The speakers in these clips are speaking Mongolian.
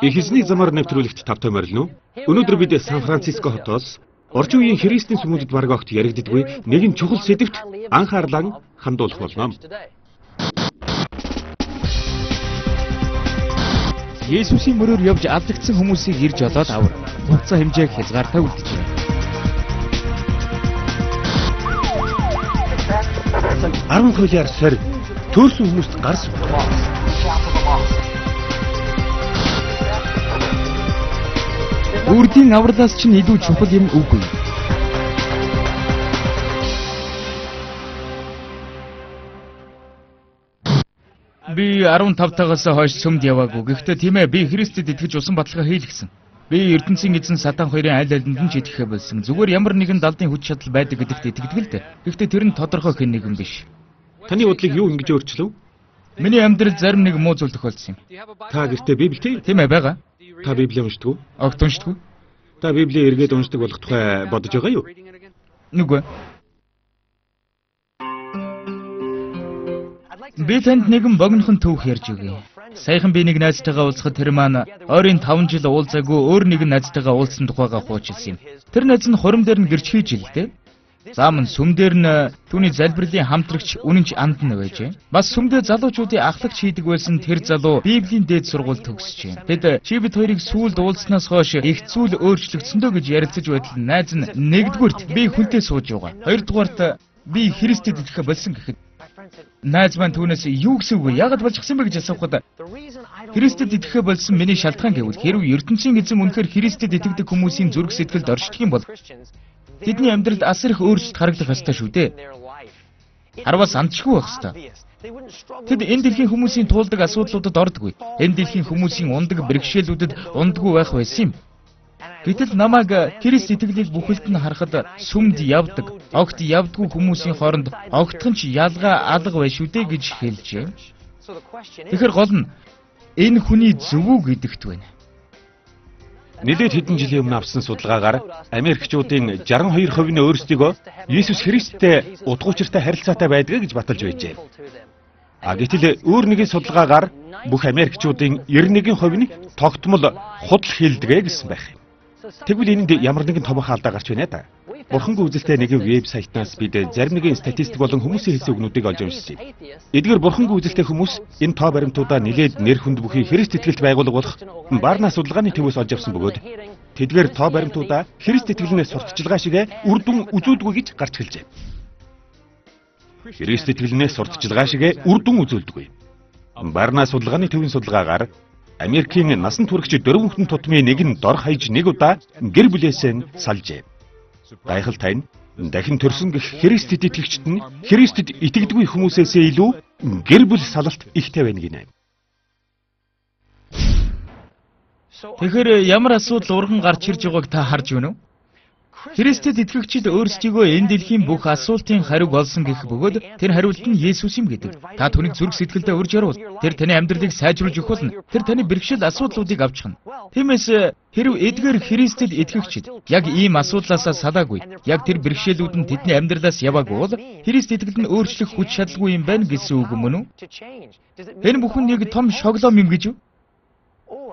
Их эзний замаар нэвтрүүлэгт тавтай морилно. Өнөөдөр бид Сан Франциско хотоос орчин үеийн христийн сүмүүдэд бараг огт яригддаггүй нэгэн чухал сэдвт анхаарлаа хандуулах болно. Есүсийн мөрөөр явж алдагдсан хүмүүсийг ирж олоод авар. Хугацаа хэмжээг хязгаартай үлдэж байна. Арван хуулиар сорь төрсөн хүмүүст гарс. Үрдийн авралаас чинь илүү чухал юм үгүй. Би 15 тагаас хойш сүмд яваагүй. Гэхдээ тийм ээ, би Христэд итгэж усан баталгаа хийлгэсэн. Би ертөнцийн эзэн Сатан хоёрын аль алинд нь ч итгэхэ болсон. Зүгээр ямар нэгэн далдын хүч чадал байдаг гэдэгт итгэдэг л дээ. Гэхдээ тэр нь тодорхой хэн нэгэн биш. Таны бодлыг юу ингэж өөрчлөв? Миний амьдрал зарим нэг муу зүйл тохиолдсон юм. Та гэртээ Библитэй? Тийм ээ, байгаа. Та Библийг уншдаг уу? Огт уншдаг уу? Та Библийг эргээд уншдаг болох тухай бодож байгаа юу? Нүггүй. Би танд нэгэн богинохон түүх ярьж өгье. Саяхан би нэг найзтайгаа уулзахад тэр маань ойрын 5 жил уулзаагүй өөр нэгэн найзтайгаа уулзсан тухайга хуучилсан юм. Тэр найз нь хурим дээр нь гэрч хийж илдээ. Заамн сүм дээр нь түүний залбирлын хамтрагч үнэнч андан байжээ. Бас сүмдээ залуучуудын ахлагч хийдэг байсан тэр залуу Библийн дээд сургууль төгсөж. Тэд чи бид хоёрыг сүүлд уулзнаас хойш их зүйл өөрчлөгдсөндөө гэж ярилцаж байтал найз нь нэгдүгürt би хүнтэй сууж байгаа. Хоёрдугаарт би Христэд итгэх болсон гэхэд найз маань түүнээс юу гэсэн үг вэ? Яагаад болчихсон бэ гэж асуухад Христэд итгэхэ болсон миний шалтгаан гэвэл хэрв ертөнцийн эзэн үнэхээр Христэд итгэдэг хүмүүсийн зүрх сэтгэлд оршдог юм бол тэдний амьдралд асар их өөрчлөлт харагдах ёстой шүү дээ. Харвас андчгүй байх ёстой. Тэд энэ дэлхийн хүмүүсийн туулдаг асуудлуудад ордоггүй. Энэ дэлхийн хүмүүсийн ундаг бэрхшээлүүдэд ундаггүй байх байсан юм. Гэтэл намайг Христ итгэлийг бүхэлд нь харахад сүмд явдаг, огт явдаггүй хүмүүсийн хооронд огтхон ч ялгаа алга байна шүү дээ гэж хэлжээ. Тэгэхээр гол нь энэ хүний зөв үү гэдэгт байна. Нэлээд хэдэн жилийн өмнө авсан судалгаагаар Америкчуудын 62% нь өөрсдийгөө Иесус Христтэй утга учиртай харилцаатай байдаг гэж баталж байжээ. Гэтэл өөр нэгэн судалгаагаар бүх Америкчуудын 91% нь тогтмол худал хийлдэг гэсэн байх юм. Тэгвэл энэнд ямар нэгэн томоохон алдаа гарч байна да. Бурхангүй үзэлтэй нэгэн вебсайтнаас бид зарим нэгэн статистик болон хүмүүсийн хэлсэн үгнүүдийг олж уншсан. Эдгээр бурхангүй үзэлтэй хүмүүс энэ тоо баримтуудаа нэлээд нэр хүнд бүхий Христ итгэлт байгууллага болох Барна судалгааны төвөөс олж авсан бөгөөд тэдгээр тоо баримтуудаа Христ итгэлнээс сурталчилгаа шиг үр дүн үзүүлдэггүй гэж гарч хэлжээ. Христ итгэлнээс сурталчилгаа шиг үр дүн үзүүлдэггүй. Барна судалгааны төвийн судалгаагаар Америкийн насан туршигч 4 хүн тутмын нэг нь дор хаяж нэг удаа гэр бүлээсээ нь салжээ. Гайхалтай нь дахин төрсөн гэх Христэд итгэгчид нь Христэд итгэдэггүй хүмүүсээс илүү гэр бүл салалт ихтэй байна гинэ. Тэгэхээр ямар асуудал урган гарч ирж байгааг та харж байна уу? Христэд итгэгчид өөрсдийгөө энэ дэлхийн бүх асуултын хариуг олсон гэх бөгөөд тэр хариулт нь Есүс юм гэдэг. Та түүнийг зүрх сэтгэлдээ урьж яруул. Тэр таны амьдралыг сайжруулж өгөх болно. Тэр таны бэрхшээл асуудлуудыг авчихна. Тиймээс хэрв эдгээр Христэд итгэгчид яг ийм асуудлаас салаагүй, яг тэр бэрхшээлүүд нь тэдний амьдралаас яваагүй бол Христ итгэл нь өөрчлөх хүч чадалгүй юм байна гэсэн үг мөн үү? Энэ бүхэн нэг том шоглоом юм гэж юу?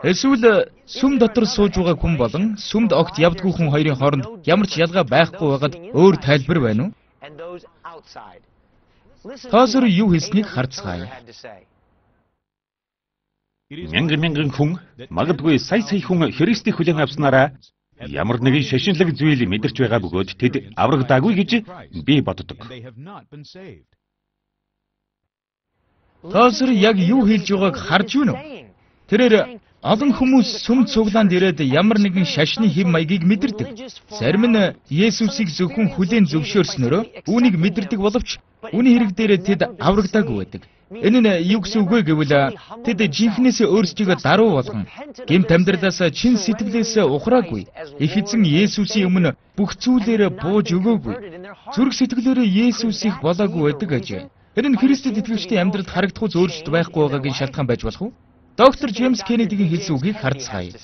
Эсвэл сүм дотор сууж байгаа хүн болон сүмд огт явдаггүй хүн хоёрын хооронд ямар ч ялгаа байхгүй байгаад өөр тайлбар байна уу? Тоосор юу хэлснийг харцгаая. Мянган хүн, магадгүй сая хүн Христийг хүлээн авснараа ямар нэгэн шашинлаг зүйл мэдэрч байгаа бөгөөд тэд аврагдаагүй гэж би боддог. Тоосор яг юу хэлж байгааг харж байна уу? Тэрээр олон хүмүүс сүм цуглаанд ирээд ямар нэгэн шашны хэм маягийг мэдэрдэг. Зарим нь Есүсийг зөвхөн хүлээн зөвшөөрснөөрөө үүнийг мэдэрдэг боловч үүний хэрэг дээр тэд аврагдаагүй байдаг. Энэ нь юу гэсэн үг вэ гэвэл тэд жинхнээсээ өөрсдийгөө даруй болгон гэмт амьдралаас чин сэтгэлээс ухраагүй. Их эзэн Есүсийн өмнө бүх зүйлээрээ бууж өгөөгүй. Зүрх сэтгэлээрээ Есүсийг болоогүй байдаг гэж. Энэ нь Христэд итгэгчдийн амьдралд харагдах зөвлөлт байхгүй байгаагийн шалтгаан байж болох уу? Доктор Джеймс Кеннедигийн хэлсэн үгийг харцгаая.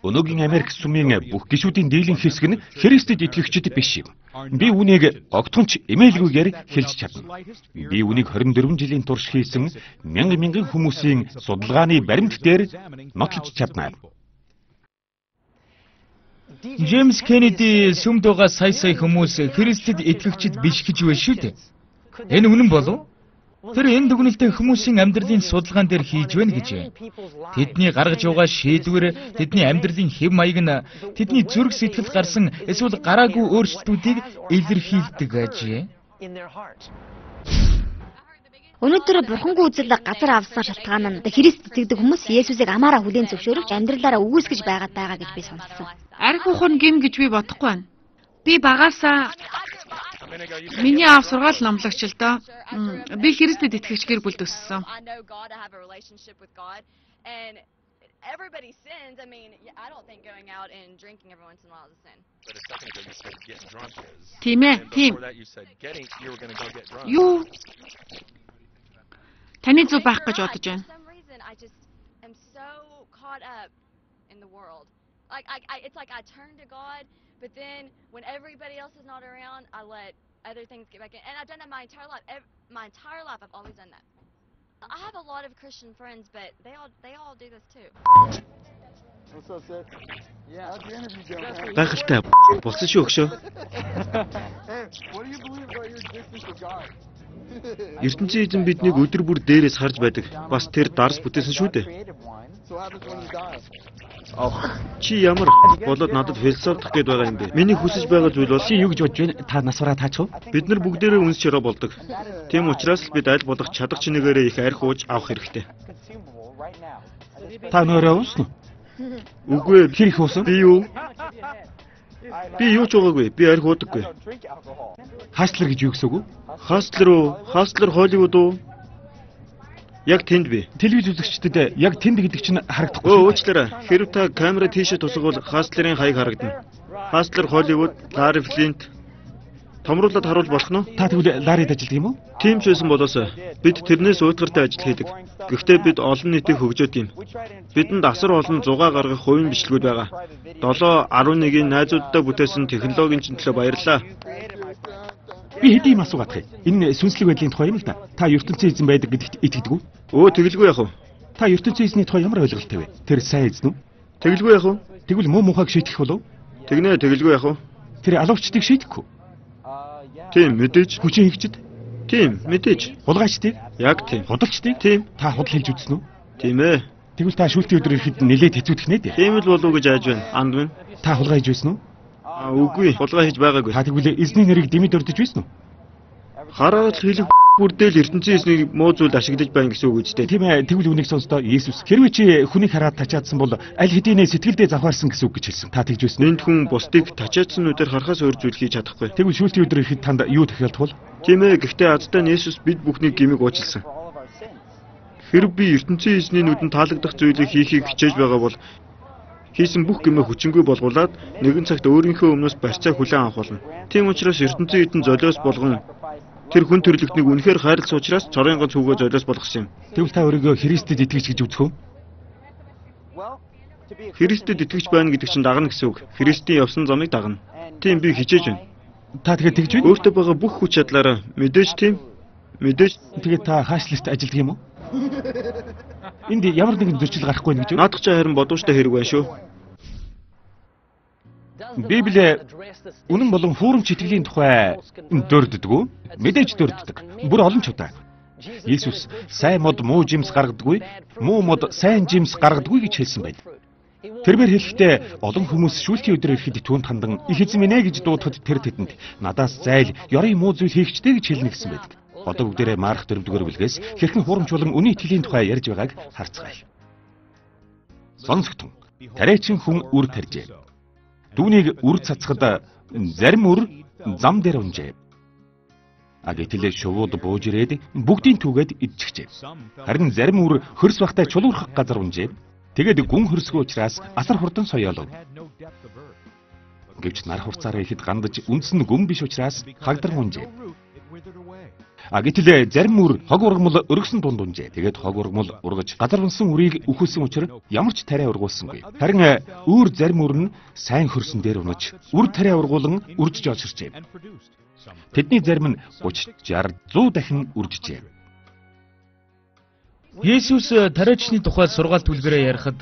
Өнөөгийн Америк сүмийн бүх гишүүдийн дийлэнх хэсэг нь Христэд итгэгчид биш юм. Би үүнийг огтхонч эмээлгүйгээр хэлж чадна. Би үүнийг 24 жилийн турш хийсэн мянган хүмүүсийн судалгааны баримт дээр нотлож чадна. Джеймс Кеннеди сүмд байгаа сая хүмүүс Христэд итгэгчид биш гэж байна шүү дээ. Энэ үнэн болов? Тэр энэ дүгнэлтээ хүмүүсийн амьдралын судалгаан дээр хийж байна гэж байна. Тэдний гаргаж байгаа шийдвэр, тэдний амьдралын хэв маяг нь тэдний зүрх сэтгэл гарсан эсвэл гараагүй өөрчлөлтүүдийг илэрхийлдэг ажээ. Өнөөдөр бурхангүй үзэл газар авсан шалтгаан нь Христ итгэдэг хүмүүс Есүсийг амаараа хүлээн зөвшөөрөж амьдралаараа үүсгэж байгаа гэж би сонссон. Арх ухаан гим гэж би бодохгүй байна. Би багаасаа миний аав сургаал номлогч л доо. Би Христэд итгэгч гэр бүлд өссөн. Everybody sins. I mean, I don't think going out and drinking every once in a while is a sin. But a second ago you said getting drunk is. Тийм ээ, тийм. Before that you said you were going to go get drunk. Юу? Таны зүг байх гэж бодож байна. For some reason, I just am so caught up in the world. Like it's like I turn to God, but then when everybody else is not around, I let other things get back in. And I've done that my entire life. My entire life, I've always done that. I have a lot of Christian friends, but they all do this too. What's up, sis? Yeah. How's your interview going? Гайхалтай болсон шүү өгшөө. Hey, what do you believe about your existence with God? ертөнцийн эзэн биднийг өдөр бүр дээрээс харж байдаг. Бас тэр дарс бүтээсэн шүү дээ. So what happens when you die? Чи ямар болоод надад философдох гээд байгаа юм бэ? Миний хүсэж байгаа зүйл бол чи юу гэж бодож байна? Та насвараа таач уу? Бид нар бүгдээрээ үнс чироо болдог. Тийм учраас л бид аль болох чадах чинээрээ их арх ууж авах хэрэгтэй. Та нөрөө уусан уу? Үгүй ээ, хэр их уусан? Би юу? Би юу ч уугаагүй. Би арх уудаггүй. Хаслер гэж юу гэсэн үг вэ? Хаслер уу? Хаслер Холливуд уу? Яг тэнд би. Телевиз үзэгчдэд яг тэнд гэдэг чинь харагдахгүй. Уучлаарай. Хэрв та камера тийшээ тусгавал Хаслерийн хаяг харагдана. Хаслер Холливуд, Ларри Флинт томруулаад харуул болох нь. Та тэгвэл Ларрид ажилладаг юм уу? Тийм ч байсан болоосоо. Бид тэрнээс уйтгартай ажил хийдэг. Гэхдээ бид олон нийтийг хөгжөөд юм. Бидэнд асар олон зугаа гаргах хувийн бичлэгүүд байгаа. 7-11-ийн найзуудтай бүтээсэн технологийн чинь төлөө баярлалаа. Би хэдийн асуугаадах юм. Энэ сүнслэг байдлын тухай юм л да. Та ертөнцийн эзэн байдаг гэдэгт итгэдэг үү? Өө тэгэлгүй яах вэ? Та ертөнцийн эзний тухай ямар ойлголттой вэ? Тэр сайн эзэн үү? Тэгэлгүй яах вэ? Тэгвэл муу мухайг шийтгэх болов? Тэгнэ тэгэлгүй яах вэ? Тэр алуучдыг шийтгэхгүй. Тийм мэдээж. Хүчин хэгчд? Тийм мэдээж. Хулгайчдыг? Яг тийм. Худалчдыг? Тийм. Та худал хэлж үзсэн үү? Тийм ээ. Тэгвэл та шүүлтийн өдөр ирэхэд нэлээд хэцүүдэх нэ дээ. Тийм л болов гэж айж байна. Анд минь. Та хулгай хийж байсан уу? Үгүй, хулгай хийж байгаагүй. Та тэгвэл эзний нэрийг дэмэд өрдөж байсан уу? Хараад хэлэх бүрдэл ертөнцийн эзнийг муу зүйлд ашиглаж байна гэсэн үг үстэй. Тийм ээ, тэгвэл үнийг сонстоо Иесус. Хэрвээ чи хүнийг хараад тачаадсан бол аль хэдийнэ сэтгэлдээ завхаарсан гэсэн үг гэж хэлсэн. Та тэгж байсан. Энд хүн бусдыг тачаадсан нүдээр харахаас өөр зүйл хийж чадахгүй. Тэгвэл шүүлтийн өдөр ирэхэд танд юу тохиолдох вэ? Тийм ээ, гэхдээ азтай Иесус бид бүхнийг гимиг уучлсан. Хэрв би ертөнцийн эзний нүдэнд таалагдах зүйлийг хийхийг хичээж байгаа бол хийсэн бүх гэмээ хүчингүй болгуулад нэгэн цагт өөрийнхөө өмнөөс барьцаа хүлээн авах болно. Тийм учраас ертөнцийн эдэн золиос болгон тэр хүн төрлөختнийг үнэхээр хайрлсан учраас цорын ганц хүүгээ золиос болгосон юм. Тэгвэл та өөрийгөө Христэд итгэж гэж үзэх үү? Христэд итгэж байна гэдэг чинь дагна гэсэн үг. Христийн явсан замыг дагна. Тийм би хичээж байна. Та тэгээд тэгж байна? Өөртөө байгаа бүх хүч чадлаараа мэдээж тийм. Мэдээж тэгээд та хаашлалт ажилдаг юм уу? Энд ямар нэгэн зөрчил гарахгүй гэж үү? Наадах ч харин бодвочтой хэрэг байна шүү. Библи үнэн болон хүүрэмч итгэлийн тухай дөрддөг үү? Мэдээж дөрддөг. Бүр олон ч удаа. Иесус сайн мод муу жимс гаргадаггүй, муу мод сайн жимс гаргадаггүй гэж хэлсэн байд. Тэрээр хэлэхдээ олон хүмүүс шүүлтийн өдөр ирэхэд түүнд хандан их эзэн минь ээ гэж дуудахад тэр тэдэнд надаас зайл, ёрын муу зүйл хийгчтэй гэж хэлнэ гэсэн байдаг. Одоо бүгдээрээ Марк 4-р бүлгээс хэрхэн хуурамч болон үнийн итгэлийн тухай ярьж байгааг харцгаая. Сонсогтун. Тариачин хүн үр тарьжээ. Дүүнийг үр цацхад зарим үр зам дээр унжээ. Гэтэл шувууд бууж ирээд бүгдийн түүгээд идчихжээ. Харин зарим үр хөрс бахтай чулуурхах газар унжээ. Тэгээд гүн хөрсгөө учраас асар хурдан соёолов. Гэвч нар хурцаараа ихэд гандаж үндсэн гүн биш учраас хагдран унжээ. Гэтэл зарим үр хог ургамал өргөсөн дунд унжээ. Тэгээд хог ургамал ургаж газар унсан үрийг үхүүлсэн учраас ямар ч тариа ургуулсангүй. Харин өөр зарим үр нь сайн хөрсөн дээр унаж үр тариа ургуулan үржиж олширчээ. Тэдний зарим нь 30, 60, 100 дахин үржижээ. Есүс тариачны тухай сургаалт үлгэрээ ярихад